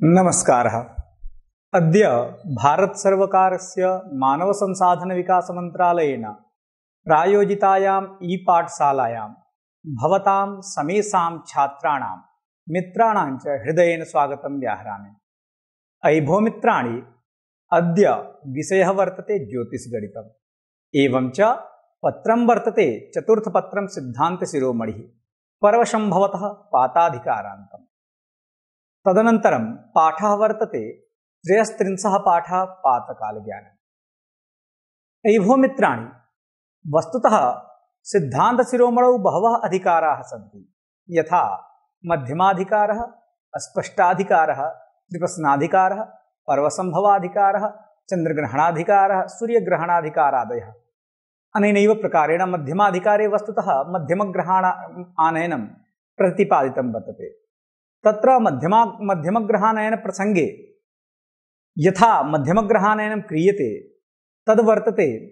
नमस्कारः। अद्य भारतसर्वकारस्य मानवसंसाधनविकासमन्त्रालयेन प्रायोजितायाम् ई-पाठशालायां भवतां समेषां छात्राणां मित्राणां च हृदयेन स्वागतं व्याहरामि। अयि भो मित्राणि, अद्य विषयः वर्तते ज्योतिषगणितम्। एवं च पत्रं वर्तते चतुर्थपत्रं सिद्धान्तशिरोमणिः पर्वसम्भवतः पाताधिकारान्तम्। तदनन्तरं पाठः वर्तते त्रयस्त्रिंशः पाठः पातकालज्ञानम्। अयि भो मित्राणि, वस्तुतः सिद्धान्तशिरोमणौ बहवः अधिकाराः सन्ति, यथा मध्यमाधिकारः, अस्पष्टाधिकारः, त्रिप्रश्नाधिकारः, पर्वसम्भवाधिकारः, चन्द्रग्रहणाधिकारः, सूर्यग्रहणाधिकारादयः। अनेनैव प्रकारेण मध्यमाधिकारे वस्तुतः मध्यमग्रहाणानयनं प्रतिपादितं वर्तते। तत्र मध्यमग्रहानयन प्रसंगे यथा मध्यमग्रहानयनं क्रियते तद्वर्तते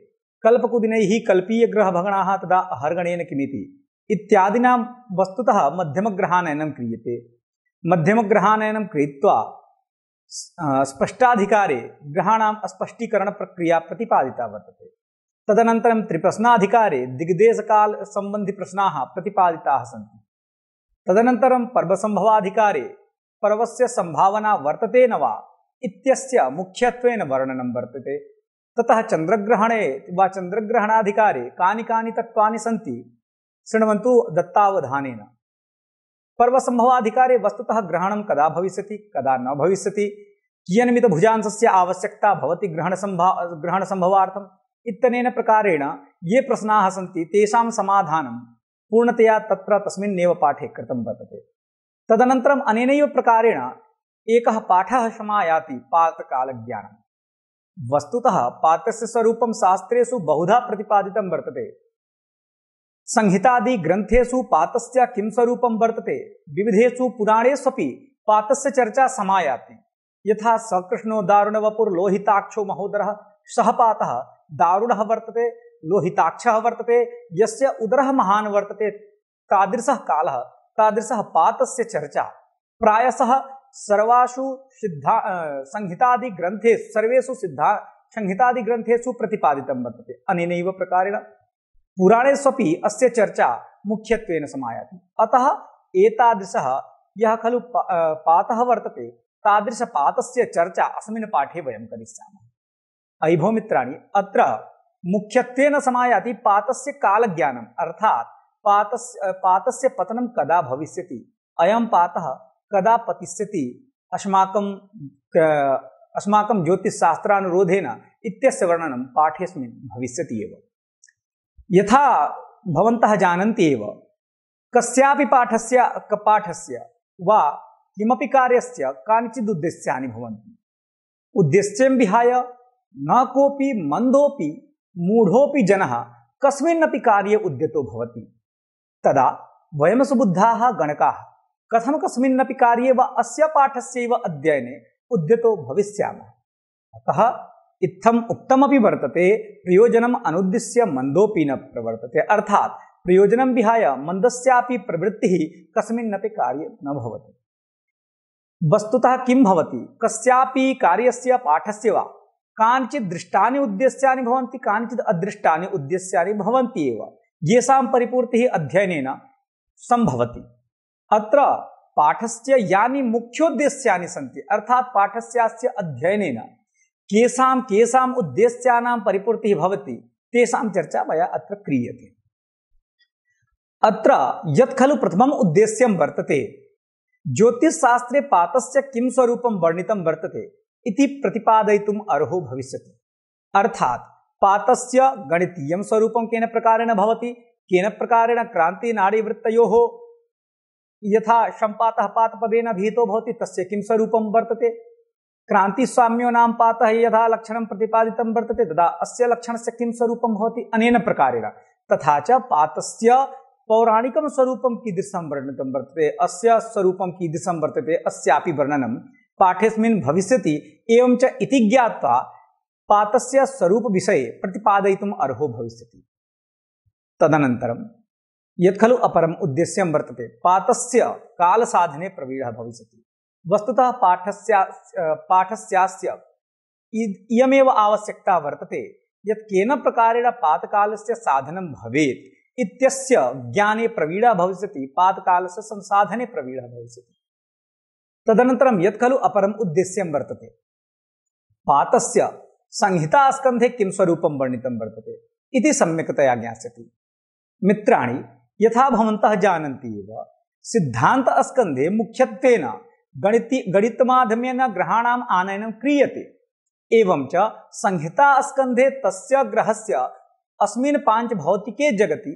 कल्पकुदिनैः कल्पीयग्रहभगणाः तदा अहर्गणेन किमिति इत्यादिनां वस्तुतः मध्यमग्रहानयनं क्रियते। मध्यमग्रहानयनं कृत्वा स्पष्टाधिकारे ग्रहाणाम् अस्पष्टीकरणप्रक्रिया प्रतिपादिता वर्तते। तदनन्तरं त्रिप्रश्नाधिकारे दिग्देशकालसम्बन्धिप्रश्नाः प्रतिपादिताः सन्ति। तदनन्तरं पर्वसम्भवाधिकारे पर्वस्य संभावना वर्तते न वा इत्यस्य मुख्यत्वेन वर्णनं वर्तते। ततः चन्द्रग्रहणे वा चन्द्रग्रहणाधिकारे कानि कानि तत्त्वानि सन्ति शृण्वन्तु दत्तावधानेन। पर्वसम्भवाधिकारे वस्तुतः ग्रहणं कदा भविष्यति कदा न भविष्यति, कियन्मितभुजांशस्य आवश्यकता भवति ग्रहणसम्भवार्थम् इत्यनेन प्रकारेण ये प्रश्नाः सन्ति तेषां समाधानं पूर्णतया तत्र तस्मिन्नेव पाठे कृतं वर्तते। तदनन्तरम् अनेनैव प्रकारेण एकः पाठः समायाति पातकालज्ञानम्। वस्तुतः पात्रस्य स्वरूपं शास्त्रेषु बहुधा प्रतिपादितं वर्तते। संहितादि ग्रन्थेषु पातस्य किं स्वरूपं वर्तते, विविधेषु पुराणेष्वपि पातस्य चर्चा समायाति। यथा सकृष्णो दारुणवपुर्लोहिताक्षो महोदरः सः पातः दारुणः वर्तते, लोहिताक्षः वर्तते, यस्य उदरः महान् वर्तते, तादृशः कालः, तादृशः पातस्य चर्चा प्रायशः सर्वेषु संहितादिग्रन्थेषु प्रतिपादितं वर्तते। अनेनैव प्रकारेण पुराणेष्वपि अस्य चर्चा मुख्यत्वेन समायाति। अतः एतादृशः यः खलु पातः वर्तते तादृशपातस्य चर्चा अस्मिन् पाठे वयं करिष्यामः। अयि भो मित्राणि, अत्र मुख्यत्वेन समायाति पातस्य कालज्ञानम्, अर्थात् पातस्य पतनं कदा भविष्यति, अयं पातः कदा पतिष्यति अस्माकं ज्योतिषशास्त्रानुरोधेन इत्यस्य वर्णनं पाठेऽस्मिन् भविष्यति एव। यथा भवन्तः जानन्ति एव, कस्यापि पाठस्य वा किमपि कार्यस्य कानिचित् उद्देश्यानि भवन्ति। उद्देश्यं विहाय न कोऽपि मन्दोऽपि मूढोऽपि जनः कस्मिन्नपि कार्ये उद्यतो भवति। तदा वयं सुबुद्धाः गणकाः कथं कस्मिन्नपि कार्ये वा अस्य पाठस्यैव अध्ययने उद्यतो भविष्यामः। अतः इत्थम् उक्तमपि वर्तते, प्रयोजनम् अनुद्दिश्य मन्दोऽपि न प्रवर्तते, अर्थात् प्रयोजनं विहाय मन्दस्यापि प्रवृत्तिः कस्मिन्नपि कार्ये न भवति। वस्तुतः किं भवति, कस्यापि कार्यस्य पाठस्य वा कानिचित् दृष्टानि उद्देश्यानि भवन्ति, कानिचित् अदृष्टानि उद्देश्यानि भवन्ति एव, येषां परिपूर्तिः अध्ययनेन सम्भवति। अत्र पाठस्य यानि मुख्योद्देश्यानि सन्ति, अर्थात् पाठस्यास्य अध्ययनेन केषाम् उद्देश्यानां परिपूर्तिः भवति तेषां चर्चा मया अत्र क्रियते। अत्र यत् खलु प्रथमम् उद्देश्यं वर्तते, ज्योतिषशास्त्रे पातस्य किं स्वरूपं वर्णितं वर्तते इति प्रतिपादयितुम् अर्हो भविष्यति। अर्थात् पातस्य गणितीयं स्वरूपं केन प्रकारेण भवति, केन प्रकारेण क्रान्तिनाडीवृत्तयोः यथा सम्पातः पातपदेन भीतो भवति तस्य किं स्वरूपं वर्तते, क्रान्तिस्वाम्यो नाम पातः यथा लक्षणं प्रतिपादितं वर्तते तदा अस्य लक्षणस्य किं स्वरूपं भवति, अनेन प्रकारेण। तथा च पातस्य पौराणिकं स्वरूपं कीदृशं वर्णितं वर्तते, अस्य स्वरूपं कीदृशं वर्तते, अस्यापि वर्णनं पाठेऽस्मिन् भविष्यति। एवं च इति ज्ञात्वा पातस्य स्वरूपविषये प्रतिपादयितुम् अर्हो भविष्यति। तदनन्तरं यत् खलु अपरम् उद्देश्यं वर्तते, पातस्य कालसाधने प्रवीणः भविष्यति। वस्तुतः पाठस्यास्य इयमेव आवश्यकता वर्तते यत् केन प्रकारेण पातकालस्य साधनं भवेत् इत्यस्य ज्ञाने प्रवीणा भविष्यति, पातकालस्य संसाधने प्रवीणा भविष्यति। तदनन्तरं यत् खलु अपरम् उद्देश्यं वर्तते, पातस्य संहितास्कन्धे किं स्वरूपं वर्णितं वर्तते इति सम्यक्तया ज्ञास्यति। मित्राणि, यथा भवन्तः जानन्ति एव, सिद्धान्तस्कन्धे मुख्यत्वेन गणितमाध्यमेन ग्रहाणाम् आनयनं क्रियते। एवं च संहितास्कन्धे तस्य ग्रहस्य अस्मिन् पाञ्चभौतिके जगति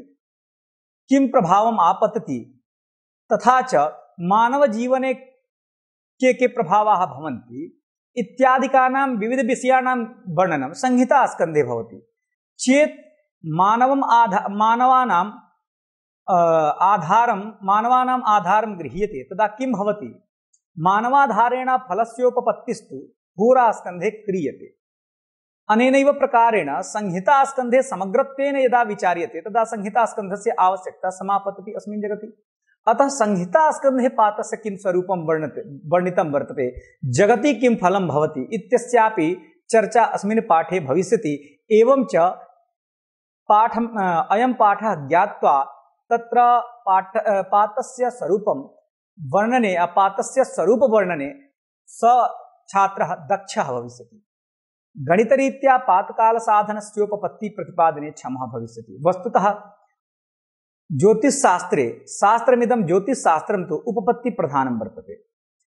किं प्रभावम् आपतति तथा च मानवजीवने के प्रभावाः भवन्ति इत्यादिकानां विविधविषयाणां वर्णनं संहितास्कन्धे भवति। चेत् मानवानाम् आधारं गृह्यते तदा किं भवति? मानवाधारेण फलस्योपपत्तिस्तु होरास्कन्धे क्रियते। अनेनैव प्रकारेण संहितास्कन्धे समग्रत्वेन यदा विचार्यते तदा संहितास्कन्धस्य आवश्यकता समापतति अस्मिन् जगति। अतः संहितास्कन्धे पातस्य किं स्वरूपं वर्णितं वर्तते, जगति किं फलं भवति इत्यस्यापि चर्चा अस्मिन् पाठे भविष्यति। एवं च अयं पाठः ज्ञात्वा तत्र पातस्य स्वरूपं वर्णने, पातस्य स्वरूपवर्णने स छात्रः दक्षः भविष्यति। गणितरीत्या पातकालसाधनस्योपपत्ति प्रतिपादने क्षमः भविष्यति। वस्तुतः ज्योतिषशास्त्रे शास्त्रमिदं ज्योतिषशास्त्रं तु उपपत्ति प्रधानं वर्तते।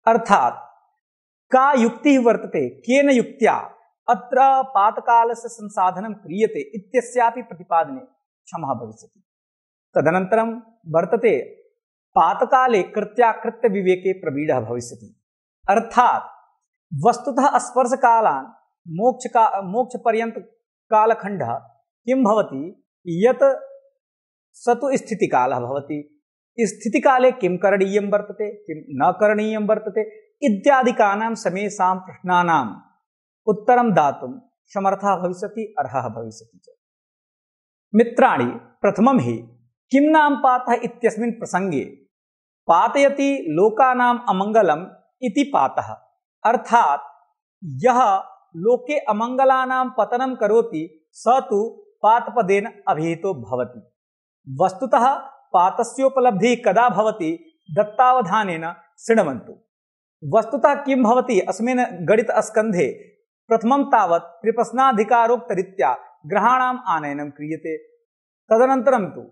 अर्थात् का युक्तिः वर्तते, केन युक्त्या अत्र पातकालस्य संसाधनं क्रियते इत्यस्यापि प्रतिपादने क्षमः भविष्यति। तदनन्तरं वर्तते पातकाले कृत्याकृत्य विवेके प्रवीणः भविष्यति। अर्थात् वस्तुतः स्पर्शकालान् मोक्षपर्यन्त कालखण्डः किं भवति यत् स तु स्थितिकालः भवति। स्थितिकाले किं करणीयं वर्तते, किं न करणीयं वर्तते इत्यादिकानां समेषां प्रश्नानाम् उत्तरं दातुं समर्थः भविष्यति, अर्हः भविष्यति च। मित्राणि, प्रथमं हि किं नाम पातः इत्यस्मिन् प्रसङ्गे पातयति लोकानाम् अमङ्गलम् इति पातः। अर्थात् यः लोके अमङ्गलानां पतनं करोति स तु पातपदेन अभिहितो भवति। वस्तुतः पातस्योपलब्धिः कदा भवति, दत्तावधानेन शृण्वन्तु। वस्तुतः किं भवति अस्मिन् गणितस्कन्धे, प्रथमं तावत् त्रिप्रश्नाधिकारोक्तरीत्या ग्रहाणाम् आनयनं क्रियते। तदनन्तरं तु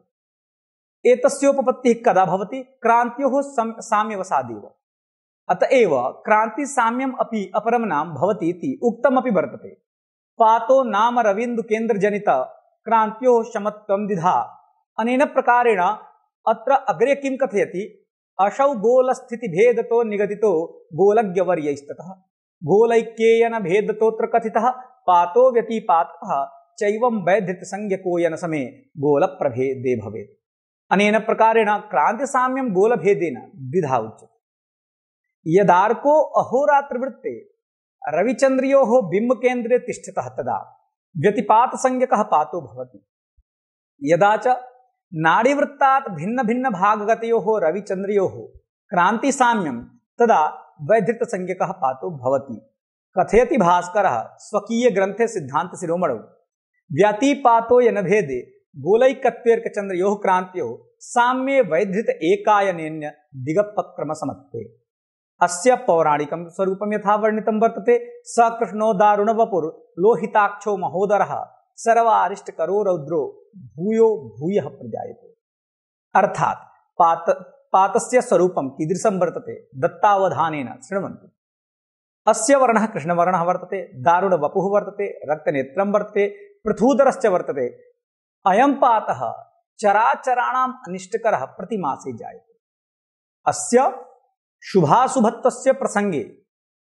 एतस्योपपत्तिः कदा भवति, क्रान्त्योः साम्यवसादेव। अतएव क्रांतिसाम्यम अपि अपरं नाम भवति इति उक्तमपि वर्तते। पातो नाम रवीन्द्रकेन्द्रजनित क्रांत्योः समत्वं द्विधा। अनेन प्रकारेण अत्र अग्रे किं कथयति, असौ गोलस्थितिभेदतो निगदितो गोलज्ञवर्यैस्ततः गोलैक्येन भेदतोऽत्र कथितः पातो व्यतिपातः चैवं वैधृतसंज्ञको यनसमे गोलप्रभेदे भवेत्। अनेन प्रकारेण क्रांतिसाम्यं गोलभेदेन द्विधा उच्यते। यदार्को अहोरात्रवृत्ते रविचन्द्रयोः बिम्बकेन्द्रे तिष्ठतः तदा व्यतिपातसंज्ञकः पातो भवति। यदा च नाड़ीवृत्तात् भिन्नभिन्नभागगतयोः रविचन्द्रयोः क्रान्तिसाम्यं तदा वैधृतसंज्ञकः पातो भवति। कथयति भास्करः स्वकीयग्रन्थे सिद्धान्तशिरोमणौ व्यतिपातो यनभेदे गोलैकत्वेर्कचन्द्रयोः क्रान्त्योः साम्ये वैधृत एकायनेन्य दिगपक्रमसमत्वे। अस्य पौराणिकं स्वरूपं यथा वर्णितं वर्तते, स कृष्णो दारुणवपुर् लोहिताक्षो महोदरः सर्वारिष्टकरो रौद्रो भूयो भूयः प्रजायते। अर्थात् पातस्य स्वरूपं कीदृशं वर्तते, दत्तावधानेन शृण्वन्तु। अस्य वर्णः कृष्णवर्णः वर्तते, दारुणवपुः वर्तते, रक्तनेत्रं वर्तते, पृथूदरश्च वर्तते। अयं पातः चराचराणाम् अनिष्टकरः प्रतिमासे जायते। अस्य शुभाशुभत्वस्य प्रसंगे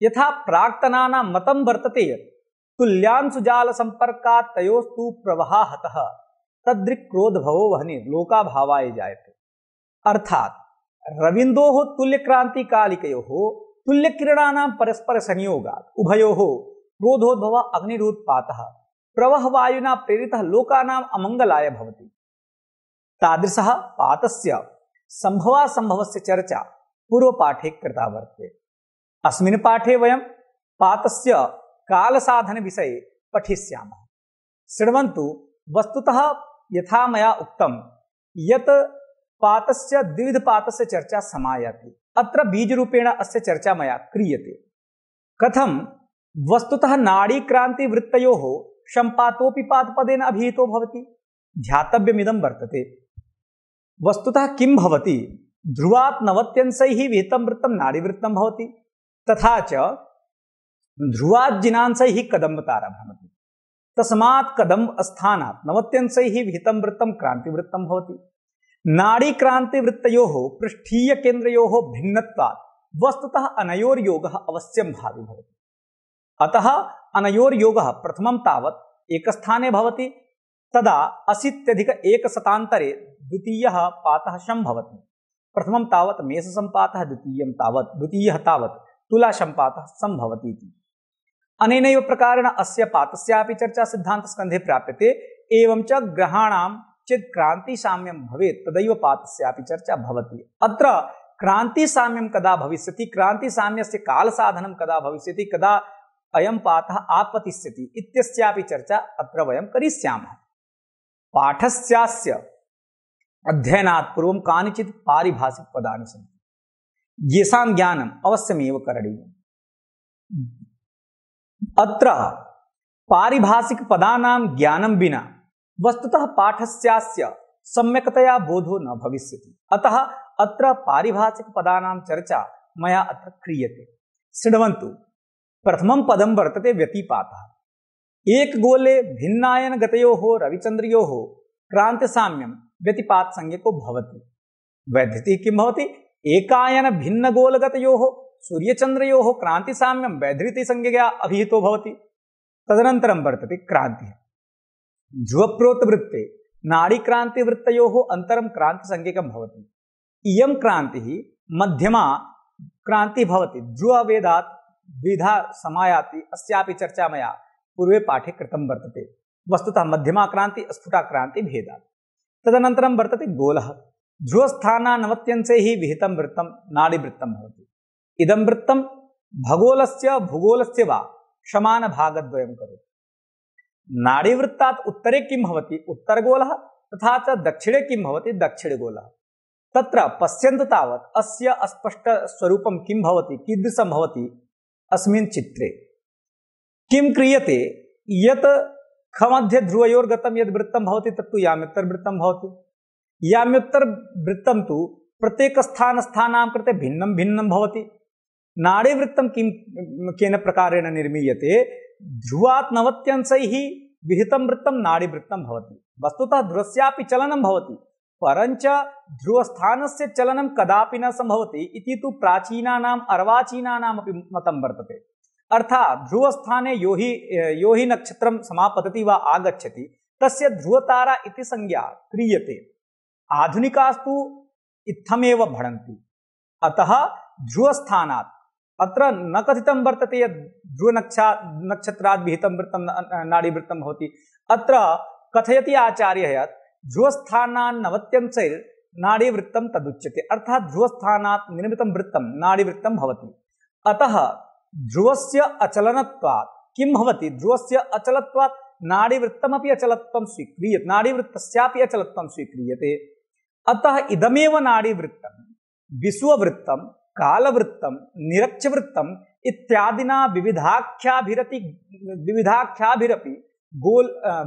यथा प्राक्तनानां मतं वर्तते यत् तुल्यांशुजालसम्पर्कात् तयोस्तु प्रवाहः हतः तदृक् क्रोधभवो वह्नि लोकाभावाय जायते। अर्थात् रविन्दोः तुल्यक्रांतिकालिकयोः तुल्यकिरणानां परस्पर संयोगात् उभयोः क्रोधोद्भवः अग्निरुत्पातः प्रवहवायुना प्रेरितः लोकानाम् अमङ्गलाय भवति। तादृशः पातस्य संभवासंभवस्य चर्चा पूर्वपाठे कृता वर्तते। अस्मिन् पाठे वयं पातस्य कालसाधनविषये पठिष्यामः। शृण्वन्तु, वस्तुतः यथा मया उक्तं यत् पातस्य द्विविधपातस्य चर्चा समायाति। अत्र बीजरूपेण अस्य चर्चा मया क्रियते। कथं वस्तुतः नाडीक्रान्तिवृत्तयोः सम्पातोऽपि पादपदेन अभिहितो भवति। ध्यातव्यमिदं वर्तते। वस्तुतः किं भवति, ध्रुवात् नवत्यंशैः विहितं वृत्तं नाडीवृत्तं भवति, तथा च ध्रुवात् जिनांशैः कदम्बतारा भवति। तस्मात् कदम्बस्थानात् नवत्यंशैः विहितं वृत्तं क्रान्तिवृत्तं भवति। नाडीक्रान्तिवृत्तयोः पृष्ठीयकेन्द्रयोः भिन्नत्वात् वस्तुतः अनयोर्योगः अवश्यं भावी भवति। अतः अनयोर्योगः प्रथमं तावत् एकस्थाने भवति, तदा 80+1 द्वितीयः पातः सम्भवति। प्रथमं तावत् मेषसम्पातः, द्वितीयः तावत् तुलासम्पातः सम्भवति इति। अनेनैव प्रकारेण अस्य पातस्यापि चर्चा सिद्धान्तस्कन्धे प्राप्यते। एवं च ग्रहाणां चेत् क्रान्तिसाम्यं भवेत् तदैव पातस्यापि चर्चा भवति। अत्र क्रान्तिसाम्यं कदा भविष्यति, क्रान्तिसाम्यस्य कालसाधनं कदा भविष्यति, कदा अयं पाठः आपतिष्यति इत्यस्यापि चर्चा अत्र वयं करिष्यामः। पाठस्यास्य अध्ययनात् पूर्वं कानिचित् पारिभाषिकपदानि सन्ति, येषां ज्ञानम् अवश्यमेव करणीयम्। अत्र पारिभाषिकपदानां ज्ञानं विना वस्तुतः पाठस्यास्य सम्यक्तया बोधो न भविष्यति। अतः अत्र पारिभाषिकपदानां चर्चा मया अत्र क्रियते। शृण्वन्तु, प्रथमं पदं वर्तते व्यतिपातः। एकगोले भिन्नायनगतयोः रविचन्द्रयोः क्रान्तिसाम्यं व्यतिपातसंज्ञको भवति। वैधृतिः किं भवति, एकायन भिन्नगोलगतयोः सूर्यचन्द्रयोः क्रान्तिसाम्यं वैधृतिसंज्ञया अभिहितो भवति। तदनन्तरं वर्तते क्रान्तिः। ध्रुवप्रोतवृत्ते नाडीक्रान्तिवृत्तयोः अन्तरं क्रान्तिसंज्ञकं भवति। इयं क्रान्तिः मध्यमा क्रान्तिः भवति। ध्रुवभेदात् द्विधा समायाति, अस्यापि चर्चा मया पूर्वे पाठे कृतं वर्तते। वस्तुतः मध्यमा क्रान्ति स्फुटा क्रान्ति भेदात्। तदनन्तरं वर्तते गोलः। ध्रुवस्थानानवत्यंशैः विहितं वृत्तं नाडीवृत्तं भवति। इदं वृत्तं भगोलस्य भूगोलस्य वा समानभागद्वयं करोति। नाडीवृत्तात् उत्तरे किं भवति, उत्तरगोलः, तथा च दक्षिणे किं भवति, दक्षिणगोलः। तत्र पश्यन्तु तावत् अस्य स्पष्टस्वरूपं किं भवति, कीदृशं भवति। अस्मिन् चित्रे किं क्रियते, यत् खमध्ये ध्रुवयोर्गतं यद् वृत्तं भवति तत्तु याम्योत्तरवृत्तं भवति। याम्योत्तरवृत्तं तु प्रत्येकस्थानां कृते भिन्नं भिन्नं भवति। नाडीवृत्तं केन प्रकारेण निर्मीयते, ध्रुवात् नवत्यंशैः विहितं वृत्तं नाडीवृत्तं भवति। वस्तुतः ध्रुवस्यापि चलनं भवति, परञ्च ध्रुवस्थानस्य चलनं कदापि न सम्भवति इति तु प्राचीनानाम् अर्वाचीनानामपि मतं वर्तते। अर्थात् ध्रुवस्थाने यो हि नक्षत्रं समापतति वा आगच्छति तस्य ध्रुवतारा इति संज्ञा क्रियते। आधुनिकास्तु इत्थमेव भणन्ति। अतः ध्रुवस्थानात् अत्र न कथितं वर्तते यत् ध्रुवनक्षत्रात् विहितं वृत्तं नाडीवृत्तं भवति। अत्र कथयति आचार्यः यत् ध्रुवस्थानान् नवत्यंशैर्नाडीवृत्तं तदुच्यते। अर्थात् ध्रुवस्थानात् निर्मितं वृत्तं नाडीवृत्तं भवति। अतः ध्रुवस्य अचलनत्वात् किं भवति, ध्रुवस्य अचलत्वात् नाडीवृत्तमपि अचलत्वं स्वीक्रियते, नाडीवृत्तस्यापि अचलत्वं स्वीक्रियते। अतः इदमेव नाडीवृत्तं विश्ववृत्तं, कालवृत्तं, निरक्षवृत्तं इत्यादिना विविधाख्याभिरपि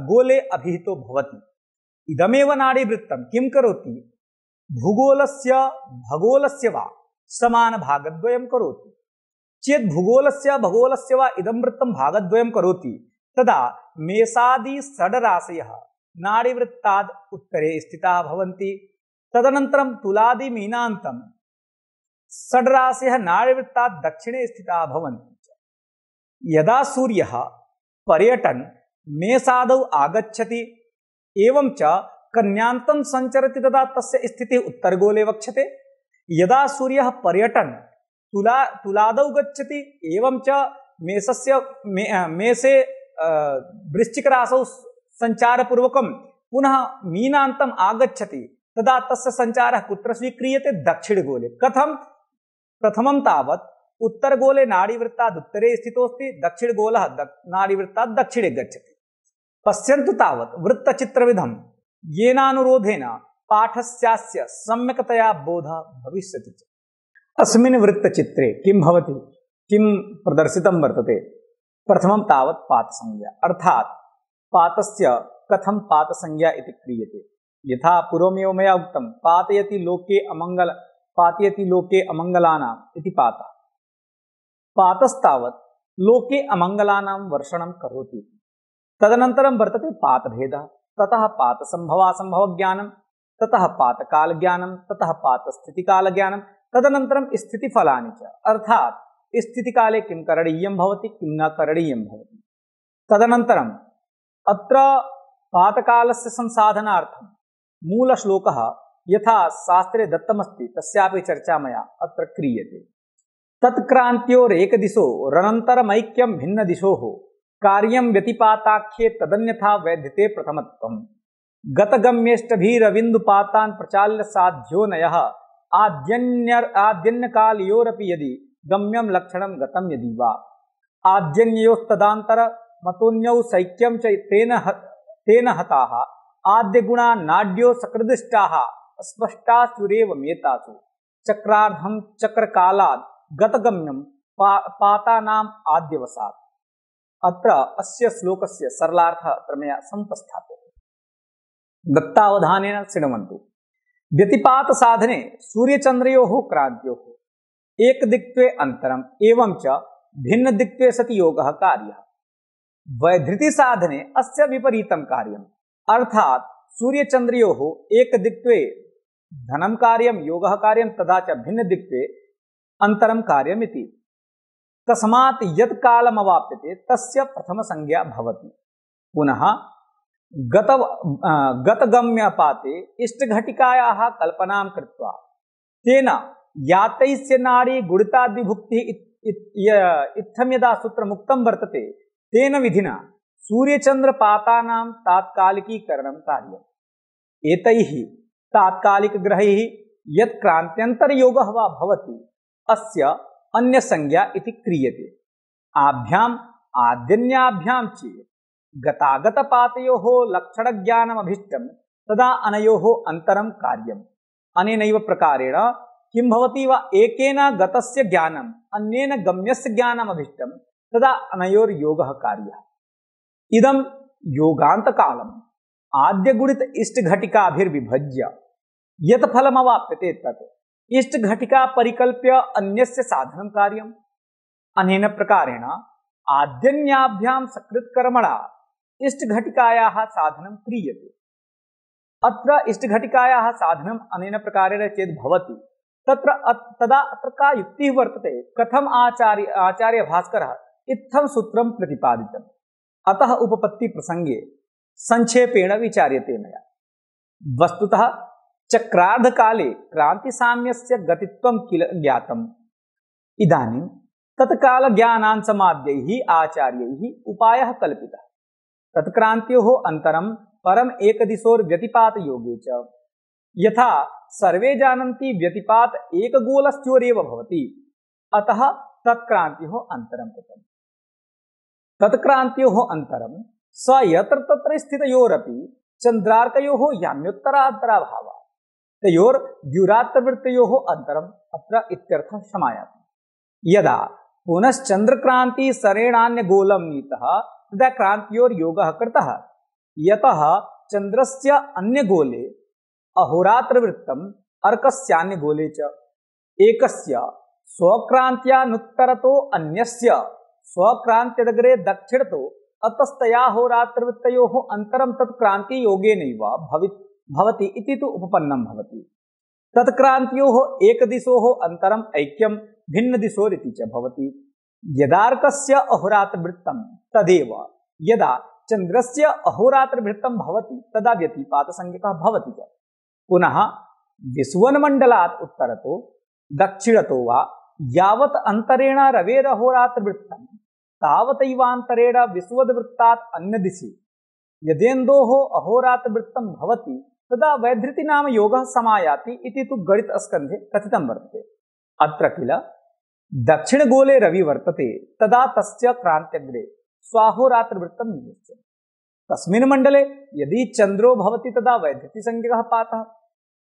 गोले अभिहितो भवति। इदमेव नाडीवृत्तं किं करोति, भूगोलस्य भगोलस्य वा समानभागद्वयं करोति। चेत् भूगोलस्य भगोलस्य वा इदं वृत्तं भागद्वयं करोति, तदा मेषादि षड्राशयः नाडीवृत्ताद् उत्तरे स्थिताः भवन्ति। तदनन्तरं तुलादि मीनान्तं षड्राशयः नाडीवृत्तात् दक्षिणे स्थिताः भवन्ति। यदा सूर्यः पर्यटन् मेषादौ आगच्छति एवं च कन्यान्तं सञ्चरति तदा तस्य स्थितिः उत्तरगोले वक्ष्यते। यदा सूर्यः पर्यटन् तुलादौ गच्छति एवं च मेषे वृश्चिकराशौ सञ्चारपूर्वकं पुनः मीनान्तम् आगच्छति तदा तस्य सञ्चारः कुत्र स्वीक्रियते, दक्षिणगोले। कथं, प्रथमं तावत् उत्तरगोले नाड़ीवृत्तात् उत्तरे स्थितोऽस्ति, दक्षिणगोलः नाड़ीवृत्तात् दक्षिणे गच्छति। पश्यन्तु तावत् वृत्तचित्रविधं येनानुरोधेन पाठस्यास्य सम्यक्तया बोधः भविष्यति च। अस्मिन् वृत्तचित्रे किं भवति, किं प्रदर्शितं वर्तते? प्रथमं तावत् पातसंज्ञा, अर्थात् पातस्य कथं पातसंज्ञा इति क्रियते। यथा पूर्वमेव मया उक्तं, पातयति लोके अमङ्गलानाम् इति पातः। पातस्तावत् लोके अमङ्गलानां वर्षणं करोति। तदनन्तरं वर्तते पातभेदः, ततः पातसम्भवासम्भवज्ञानं, ततः पातकालज्ञानं, ततः पातस्थितिकालज्ञानं, तदनन्तरं स्थितिफलानि च, अर्थात् स्थितिकाले किं करणीयं भवति, किं न करणीयं भवति। तदनन्तरम् अत्र पातकालस्य संसाधनार्थं मूलश्लोकः यथा शास्त्रे दत्तमस्ति तस्यापि चर्चा मया अत्र क्रियते। तत्क्रान्त्योरेकदिशो रनन्तरमैक्यं भिन्नदिशोः कार्यं व्यतिपाताख्ये तदन्यथा वैद्यते प्रथमत्वम्। गतगम्येष्टभिरविन्दुपातान् प्रचाल्य साध्यो नयः आद्यन्यकालयोरपि यदि गम्यं लक्षणं गतं यदि वा आद्यन्योस्तदान्तर मतोन्यौ सैक्यं च तेन हताः आद्यगुणा नाड्यो सकृदिष्टाः स्पष्टासुरेव मेतासु चक्रार्धं चक्रकालात् गतगम्यं पातानाम् आद्यवसात्। अत्र अस्य श्लोकस्य सरलार्थः अत्र मया समुपस्थाप्यते। दत्तावधानेन शृण्वन्तु। व्यतिपात साधने सूर्यचन्द्रयोः क्रान्त्योः एकदिक्त्वे अन्तरम् एवं च भिन्नदिक्त्वे सति योगः कार्यः। वैधृति साधने अस्य विपरीतं कार्यम्, अर्थात् सूर्यचन्द्रयोः एकदिक्त्वे धनं कार्यं योगः कार्यं तथा च भिन्नदिक्त्वे अन्तरं कार्यमिति। तस्मात् यत् कालमवाप्यते तस्य प्रथमसंज्ञा भवति। पुनः गतगम्यपाते इष्टघटिकायाः कल्पनां कृत्वा तेन यातैस्य नाड़ी गुणिताद्विभुक्तिः इत्थं यदा सूत्रमुक्तं वर्तते तेन विधिना सूर्यचन्द्रपातानां तात्कालिकीकरणं कार्यम्। एतैः तात्कालिकग्रहैः यत् क्रान्त्यन्तरयोगः वा भवति अस्य अन्यसंज्ञा इति क्रियते। आभ्याम् आद्यन्याभ्यां चेत् गतागतपातयोः लक्षणज्ञानमभीष्टं तदा अनयोः अन्तरं कार्यम्। अनेनैव प्रकारेण किं भवति वा एकेन गतस्य ज्ञानम् अन्येन गम्यस्य ज्ञानमभीष्टं तदा अनयोर्योगः कार्यः। इदं योगान्तकालम् आद्यगुणित इष्टघटिकाभिर्विभज्य यत् फलमवाप्यते तत् इष्टघटिका परिकल्प्य अन्यस्य साधनं कार्यम्। अनेन प्रकारेण आद्यन्याभ्यां सकृत्कर्मणा इष्टघटिकायाः साधनं क्रियते। अत्र इष्टघटिकायाः साधनम् अनेन प्रकारेण चेत् भवति तदा अत्र का युक्तिः वर्तते, कथम् आचार्य भास्करः इत्थं सूत्रं प्रतिपादितम्। अतः उपपत्ति प्रसंगे संक्षेपेण विचार्यते मया। वस्तुतः चक्रार्धकाले क्रांतिसाम्यस्य गतित्वं किल ज्ञातम्। इदानीं तत्कालज्ञानान्समाद्यैः आचार्यैः उपायः कल्पितः। तत्क्रान्त्योः अन्तरं परम एकदिशोर्व्यतिपातयोगे च यथा सर्वे जानन्ति व्यतिपात एकगोलस्योरेव भवति, अतः तत्क्रान्त्योः अन्तरं कृतम्। तत्क्रान्त्योः अन्तरं स यत्र तत्र स्थितयोरपि चन्द्रार्कयोः याम्योत्तरान्तराभावः तयोर्द्युरात्रवृत्तयोः अन्तरम् अत्र इत्यर्थः समायाति। यदा पुनश्चन्द्रक्रान्ति सरेणान्यगोलं नीतः तदा क्रान्त्योर्योगः कृतः। यतः चन्द्रस्य अन्यगोले अहोरात्रवृत्तम् अर्कस्यान्यगोले च एकस्य स्वक्रान्त्यानुत्तरतो अन्यस्य स्वक्रान्त्यदग्रे दक्षिणतो अतस्तया होरात्रवृत्तयोः अन्तरं तत्क्रान्तियोगेनैव भवति इति तु उपपन्नं भवति। तत्क्रान्त्योः एकदिशोः अन्तरम् ऐक्यं भिन्नदिशोरिति च भवति। यदार्कस्य अहोरात्रवृत्तं तदेव यदा चन्द्रस्य अहोरात्रवृत्तं भवति तदा व्यतिपातसंज्ञकः भवति च। पुनः विश्वन्मण्डलात् उत्तरतो दक्षिणतो वा यावत् अन्तरेण रवेरहोरात्रवृत्तं तावतैवान्तरेण विश्वद्वृत्तात् अन्यदिशि यदेन्दोः अहोरात्रवृत्तं भवति तदा वैधृति नाम योगः समायाति इति तु गणितस्कन्धे कथितं वर्तते। अत्र किल दक्षिणगोले रवि वर्तते तदा तस्य क्रान्त्यग्रे स्वाहोरात्रवृत्तं निवेश्यम्। तस्मिन् मण्डले यदि चन्द्रो भवति तदा वैद्यति संज्ञकः पातः।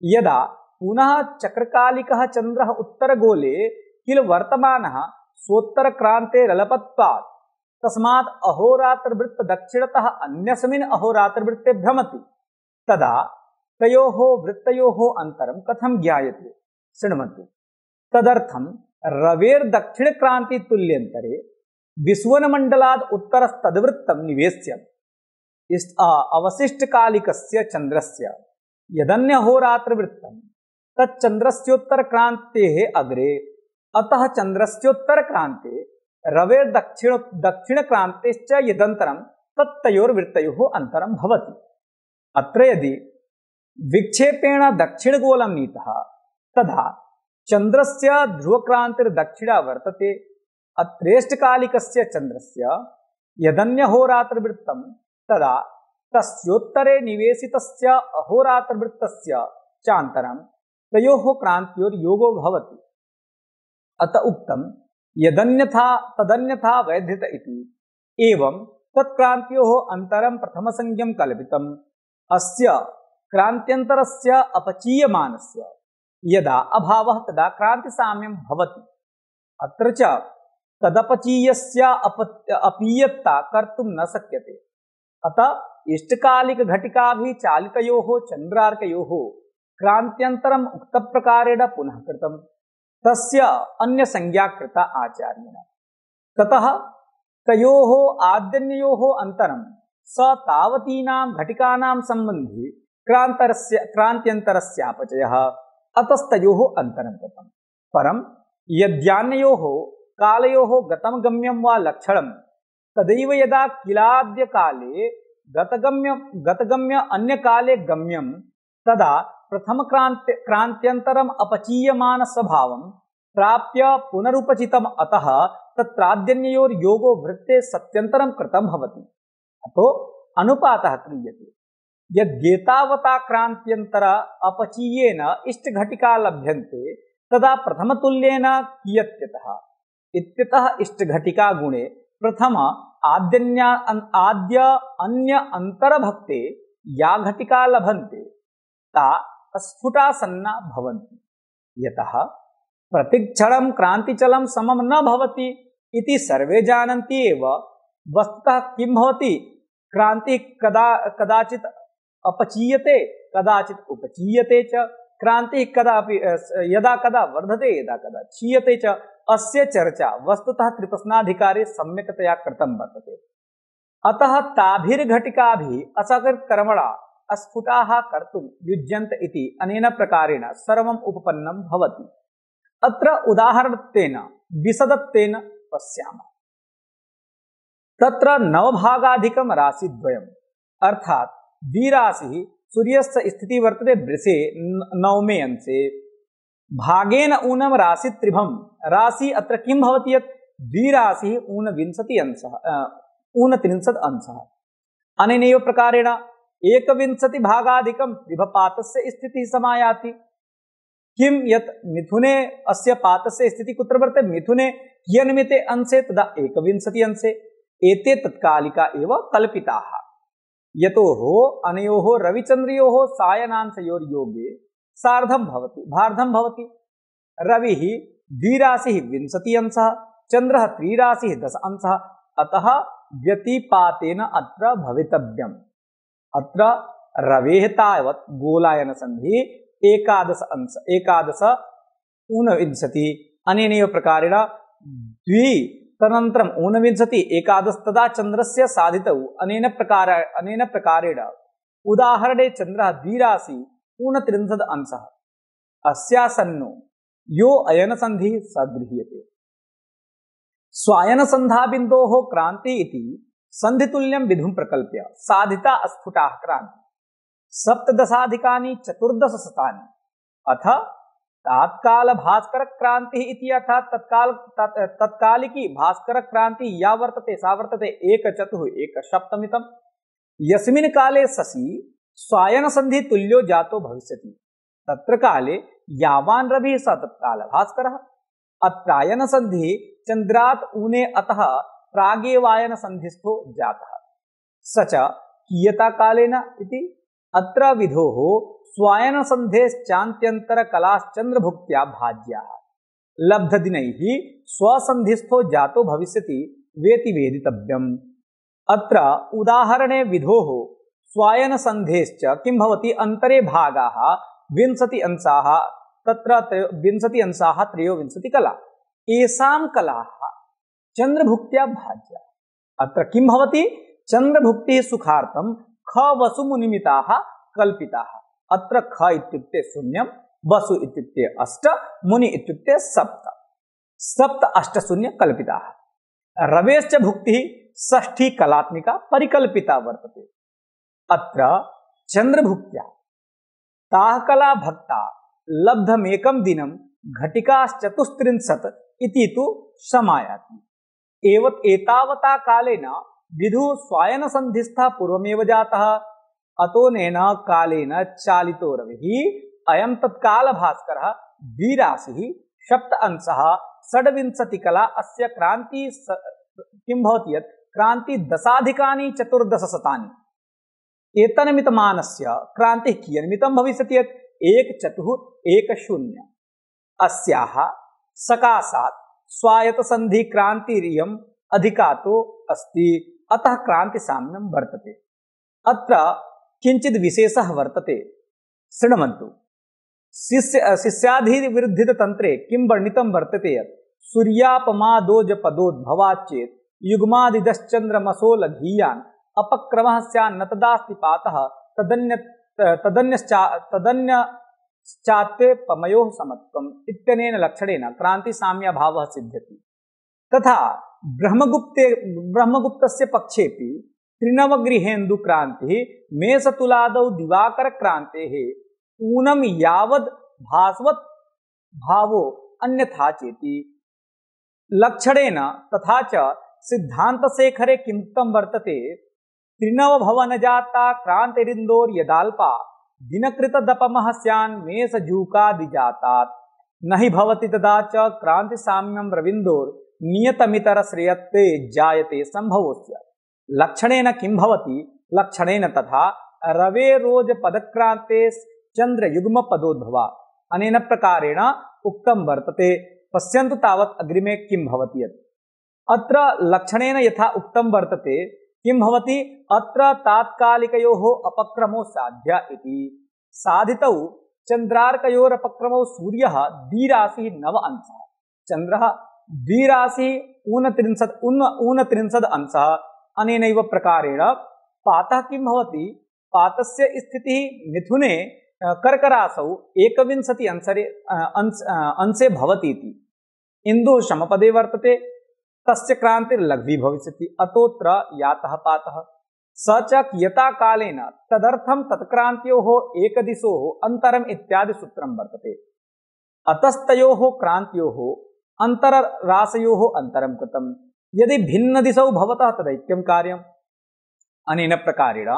यदा पुनः चक्रकालिकः चन्द्रः उत्तरगोले किल वर्तमानः स्वोत्तरक्रान्ते रलपत्वात् तस्मात् अहोरात्रवृत्त दक्षिणतः अन्यस्मिन् अहोरात्रवृत्ते भ्रमति तदा तयोः वृत्तयोः अन्तरं कथं ज्ञायते शृण्वन्तु। तदर्थं रवेर्दक्षिणक्रान्ति तुल्यन्तरे विश्वनमण्डलाद् उत्तरस्तद्वृत्तं निवेश्य अवशिष्टकालिकस्य चन्द्रस्य यदन्यहोरात्रवृत्तं तच्चन्द्रस्योत्तरक्रान्तेः अग्रे अतः चन्द्रस्योत्तरक्रान्ते रवेर्दक्षिणक्रान्तेश्च यदन्तरं तत्तयोर्वृत्तयोः अन्तरं भवति। अत्र यदि विक्षेपेण दक्षिणगोलं नीतः तदा चन्द्रस्य ध्रुवक्रान्तिर्दक्षिणा वर्तते। अत्रेष्टकालिकस्य चन्द्रस्य यदन्यहोरात्रवृत्तं तदा तस्योत्तरे निवेशितस्य अहोरात्रवृत्तस्य चान्तरं तयोः क्रान्त्योर्योगो भवति। अत उक्तं यदन्यथा तदन्यथा वैध्यत इति। एवं तत्क्रान्त्योः अन्तरं प्रथमसंज्ञं कल्पितम्। अस्य क्रान्त्यन्तरस्य अपचीयमानस्य यदा अभावः तदा क्रान्तिसाम्यं भवति। अत्र च तदपचीयस्य अपीयता कर्तुं न शक्यते। अतः इष्टकालिकघटिकाभिः चालितयोः चन्द्रार्कयोः क्रान्त्यन्तरम् उक्तप्रकारेण पुनः कृतम्। तस्य अन्यसंज्ञा कृता आचार्येण। ततः तयोः आद्यन्योः अन्तरं स तावतीनां घटिकानां सम्बन्धी क्रान्त्यन्तरस्यापचयः अतस्तयोः अन्तरं कृतम्। परं यद्यान्योः कालयोः गतं गम्यं वा लक्षणं तदैव यदा किलाद्यकाले गतगम्य अन्यकाले गम्यं तदा प्रथमक्रान्त्यन्तरम् अपचीयमान स्वभावं प्राप्य पुनरुपचितम्। अतः तत्राद्यन्योर्योगो वृत्ते सत्यन्तरं कृतं भवति। अतो अनुपातः क्रियते। यद्येतावता क्रान्त्यन्तर अपचीयेन इष्टघटिका लभ्यन्ते तदा प्रथमतुल्येन कियत्यतः इत्यतः इष्टघटिका गुणे प्रथम आद्य अन्य अंतरभक्ते या घटिका लभन्ते ता स्फुटासन्ना भवन्ति। यतः प्रतिक्षणं क्रांतिचलं समं न भवति इति सर्वे जानन्ति एव। वस्तुतः किं भवति, क्रांति कदाचित् अपचीयते कदाचित् उपचीयते च। क्रांति कदापि यदा कदा वर्धते यदा कदा क्षीयते च। अस्य चर्चा वस्तुतः त्रिप्रश्नाधिकारे सम्यक्तया कृतं वर्तते। अतः ताभिर्घटिकाभिः असकृत्कर्मणा अस्फुटाः कर्तुं युज्यन्त इति अनेन प्रकारेण सर्वम् उपपन्नं भवति। अत्र उदाहरणत्वेन विशदत्वेन पश्यामः। तत्र नवभागाधिकं राशिद्वयम् अर्थात् द्विराशिः सूर्यस्य स्थितिः वर्तते वृषे नवमे अंशे। भागेन ऊनं राशित्रिभं राशि अत्र किं भवति यत् द्विराशिः 29 अंशः। अनेनैव प्रकारेण 21 भागाधिकं त्रिभपातस्य स्थितिः समायाति। किं यत् मिथुने अस्य पातस्य स्थितिः कुत्र वर्तते, मिथुने कियन्मिते अंशे तदा 21 अंशे। एते तत्कालिका एव कल्पिताः। यतोः अनयोः रविचन्द्रयोः सायनांशयोर्योगे सार्धं भवति भार्धं भवति। रविः द्विराशिः 20 अंशः, चन्द्रः त्रिराशिः 10 अंशः। अतः व्यतिपातेन अत्र भवितव्यम्। अत्र रवेः तावत् गोलायन संधि 11 ऊनविंशति। अनेनैव प्रकारेण द्वि तदनन्तरं 29 11 तदा चन्द्रस्य साधितौ। अनेन प्रकारेण उदाहरणे चन्द्रः द्विराशि 29 अंशः। अस्यासन्नो यो अयनसन्धिः स गृह्यते। स्वायनसन्धाबिन्दोः क्रान्ति इति सन्धितुल्यं विधुं प्रकल्प्य साधिता स्फुटाः क्रान्ति 17 अथ तात्काल भास्कर क्रांति इति अर्थात् तत्कालिकी भास्कर क्रांति या वर्तते सा वर्तते 1/4 यस्मिन् काले शशि स्वायन संधि तुल्यो जातो भविष्यति। तत्र काले यावान् रविः स तत्काल भास्करः। अत्रायन संधि चंद्रात् ऊने अतः प्रागेवायन संधिस्थो जातः स च कियता कालेन इति अत्र विधोः स्वायन संधेश्चान्त्यंतर कलाश्चंद्रभुक्त्या भाज्याः लब्धदिनैः स्वसंधिस्थो जातो भविष्यति वेति वेदितव्यम्। अत्र उदाहरणे विधोः स्वायन संधेश्च किं भवति अंतरे भागाः 20 अंशाः तत्र 20 अंशाः 23 कला एषां कलाः चंद्रभुक्त्या भाज्या। अत्र किं भवति चंद्रभुक्तिः सुखार्थं ख वसु मुनिमिताः कल्पिताः। अत्र ख इत्युक्ते शून्यं वसु इत्युक्ते 8 मुनि इत्युक्ते 7 सप्त 8 शून्य कल्पिताः। रवेश्च भुक्तिः षष्ठी कलात्मिका परिकल्पिता वर्तते। अत्र चंद्रभुक्त्या ताः कला भक्ता लब्धमेकं दिनं घटिकाश्चतुस्त्रिंशत् इति तु समायाति। एतावता कालेन विधुः स्वायन संधिस्थः पूर्वमेव जातः अतोनेन कालेन चालितो रविः अयं तत्काल भास्करः द्विराशिः सप्त अंशः 26 कला अस्य क्रांति किं भवति यत् क्रांति दशाधिकानि 1400 एतन्मितमानस्य क्रांतिः कियन्मितं भविष्यति यत् 1410 अस्याः सकाशात् स्वायत संधि क्रांतिरियम् अधिकातो अस्ति अतः क्रांति साम्यं वर्तते। अत्र किंचित् विशेषः वर्तते शृण्वन्तु। शिष्याधिविरुद्धित तंत्रे किं वर्णितं वर्तते यत् सूर्यापमादोज पदोद्भवात् चेत् युग्मादिदश्चन्द्रमसो लघीयान् अपक्रमः स्यान्न तदास्ति पातः तदन्यश्चात्ते पमयोः समत्वम् इत्यनेन लक्षणेन क्रांति साम्याभावः सिद्ध्यति। तथा ब्रह्मगुप्तस्य पक्षेपि त्रिनवगृहेन्दु क्रांतिः मेषतुलादौ दिवाकर क्रांतेः ऊनम यावद् भास्वत् भावो अन्यथा चेति लक्षणेन। तथा च सिद्धान्तशेखरे किमुक्तं वर्तते त्रिनवभवनजाता क्रांतिरिन्दोर यदाल्पा दिनकृतदपमः स्यान् मेषजूकादिजातात् न हि भवति तदा च क्रान्तिसाम्यं रविन्दोर नियतमितरश्रेयत्ते जायते संभवस्य। लक्षणेन किं भवति लक्षणेन तथा रवेरोज पदक्रांते चंद्रयुग्म पदोद्भवा अनेन प्रकारेण उक्तं वर्तते। पश्यन्तु तावत् अग्रिमे किं भवति यत् अत्र लक्षणेन यथा उक्तं वर्तते किं भवति अत्र तात्कालिकयोः अपक्रमो साध्य इति। साधितौ चंद्रार्कयोरपक्रमो सूर्यः द्विराशिः 9 अंशः चंद्रः द्विराशिः 29 अंशः। अनेनैव प्रकारेण पातः किं भवति पातस्य स्थितिः मिथुने कर्करासौ 21 अंशे भवति इति। इन्दुः समपदे वर्तते तस्य क्रांतिर्लघ्वी भविष्यति अतोऽत्र यातः पातः स च कियता कालेन तदर्थं तत्क्रांत्योः एकदिशोः अन्तरम् इत्यादि सूत्रं वर्तते। अतस्तयोः क्रांत्योः अंतरराशयोः अंतरं कृतं यदि भिन्न दिशौ भवतः तदैक्यं कार्यम्। अनेन प्रकारेण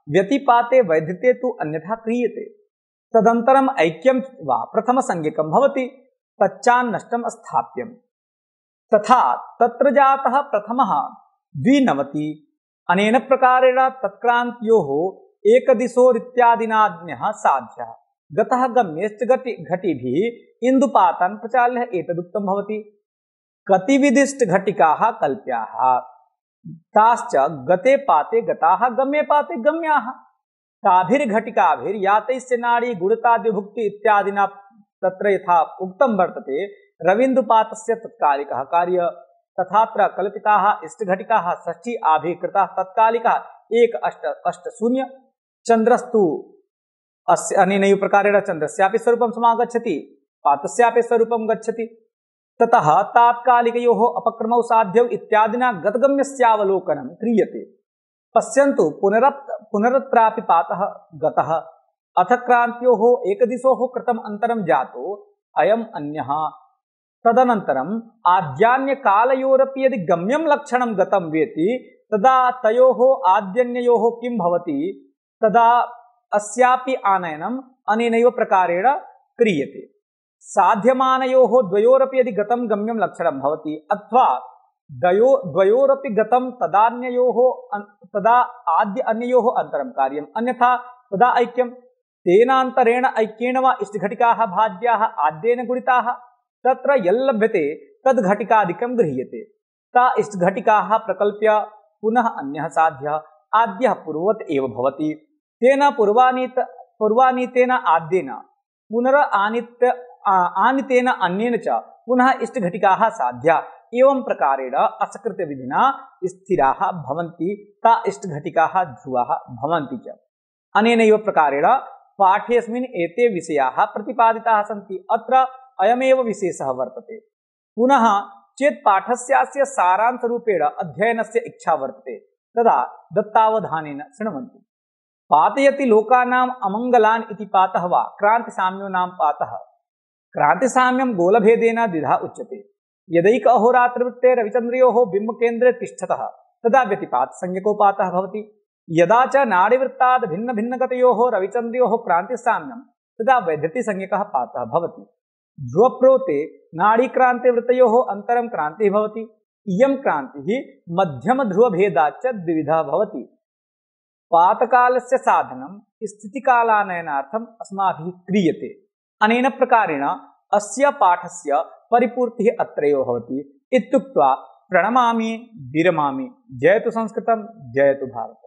व्यतिपाते वैद्यते तु अन्यथा क्रियते तदन्तरम् ऐक्यं वा प्रथमसंज्ञकं भवति तच्चान्नष्टं स्थाप्यम्। तथा तत्र जातः प्रथमः 92। अनेन प्रकारेण तत्क्रांत्योः एकदिशोरित्यादिनाज्ञः साध्यः गतः गम्यश्च घटिभिः इन्दुपातान् प्रचाल्य एतदुक्तं भवति। कतिविदिष्ट घटिकाः कल्प्याः ताश्च गते पाते गताः गम्ये पाते गम्याः ताभिर्घटिकाभिर्यातैश्च नाड़ी गुणताद्यभुक्ति इत्यादिना तत्र यथा उक्तं वर्तते रविन्दुपातस्य तत्कालिकः कार्य तथात्र कल्पिताः इष्टघटिकाः षष्ठी आभिकृताः तत्कालिकाः 1-8-8-0 चंद्रस्तु अस्य अनेनैव प्रकारेण चंद्रस्यापि स्वरूपं समागच्छति पातस्यापि स्वरूपं गच्छति। ततः तात्कालिकयोः अपक्रमौ साध्यौ इत्यादिना गतगम्यस्यावलोकनं क्रियते। पश्यन्तु पुनरत्रापि पातः गतः अथ क्रांत्योः एकदिशोः कृतम् अंतरं जातो अयम् अन्यः। तदनन्तरम् आद्यान्यकालयोरपि यदि गम्यं लक्षणं गतं वेति तदा तयोः आद्यन्ययोः किं भवति तदा अस्यापि आनयनम् अनेनैव प्रकारेण क्रियते। साध्यमानयोः द्वयोरपि यदि गतं गम्यं लक्षणं भवति अथवा द्वयोरपि गतं तदा आद्य अन्ययोः अन्तरं कार्यम् अन्यथा तदा ऐक्यं तेनान्तरेण ऐक्येन वा इष्टघटिकाः भाज्याः आद्येन गुणिताः तत्र यल्लभ्यते तद्घटिकादिकं गृह्यते ता इष्टघटिकाः प्रकल्प्य पुनः अन्यः साध्यः आद्यः पूर्ववत् एव भवति तेन पूर्वानीतेन आद्येन आनीतेन अन्येन च पुनः इष्टघटिकाः साध्या एवं प्रकारेण असकृतविधिना स्थिराः भवन्ति ता इष्टघटिकाः ध्रुवाः भवन्ति च अनेनैव प्रकारेण पाठेऽस्मिन् एते विषयाः प्रतिपादिताः सन्ति अत्र अयमेव विशेषः वर्तते पुनः चेत् पाठस्यास्य सारांशरूपेण अध्ययनस्य इच्छा वर्तते तदा दत्तावधानेन शृण्वन्तु पातयति लोकानाम् अमङ्गलान् इति पातः वा क्रान्तिसाम्यो नाम पातः क्रान्तिसाम्यं गोलभेदेन द्विधा उच्यते यदैक अहोरात्रवृत्ते रविचन्द्रयोः बिम्बकेन्द्रे तिष्ठतः तदा व्यतिपातसंज्ञको पातः भवति यदा च नाडीवृत्ताद् भिन्नभिन्नगतयोः रविचन्द्रयोः क्रान्तिसाम्यं तदा वैद्यतिसंज्ञकः पातः भवति ध्रुवप्रोते नाडीक्रान्तिवृत्तयोः अन्तरं क्रान्तिः भवति इयं क्रान्तिः मध्यमध्रुवभेदाच्च द्विविधः भवति पातकालस्य साधनं स्थितिकालानयनार्थम् अस्माभिः क्रियते अनेन प्रकारेण अस्य पाठस्य परिपूर्तिः अत्रैव भवति इत्युक्त्वा प्रणमामि विरमामि जयतु संस्कृतं जयतु भारतम्।